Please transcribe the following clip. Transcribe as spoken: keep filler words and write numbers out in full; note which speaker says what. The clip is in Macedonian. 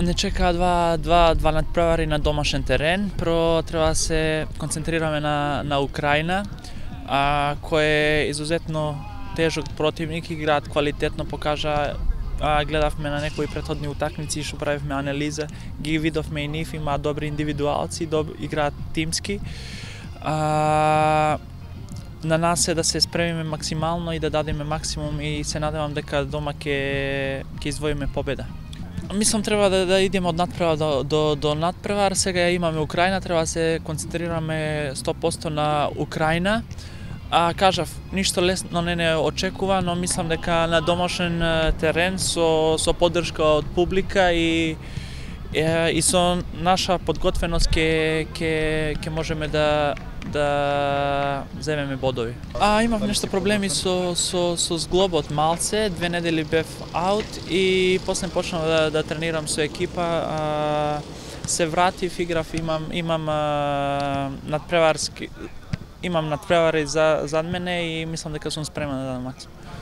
Speaker 1: Не чекаа два, два, два надпревари на домашен терен. Прво треба да се концентрираме на, на Украина, а, кој е изузетно тежок противник, играат квалитетно, покажа, а, гледавме на некои претходни утакмици што правевме анализа, ги видовме и нив, имаат добри индивидуалци, доб, играат тимски. А, на нас е да се спремиме максимално и да дадеме максимум и се надевам дека дома ќе ќе извоиме победа. Мислам треба да, да идеме од надпревар до, до, до надпревар. Сега имаме Украина, треба да се концентрираме сто проценти на Украина. А кажав, ништо лесно не не очекува, но мислам дека на домашен терен со со поддршка од публика и и со наша подготвеност ќе ќе ќе можеме да да земеме бодови. А имав нешто проблеми со со со зглобот малце, две недели бев аут и после почнав да да тренирам со екипа, а, се вратив, играв, имам имам а, надпреварски имам надпревари за зад мене и мислам дека сум спремен да дадам максимум.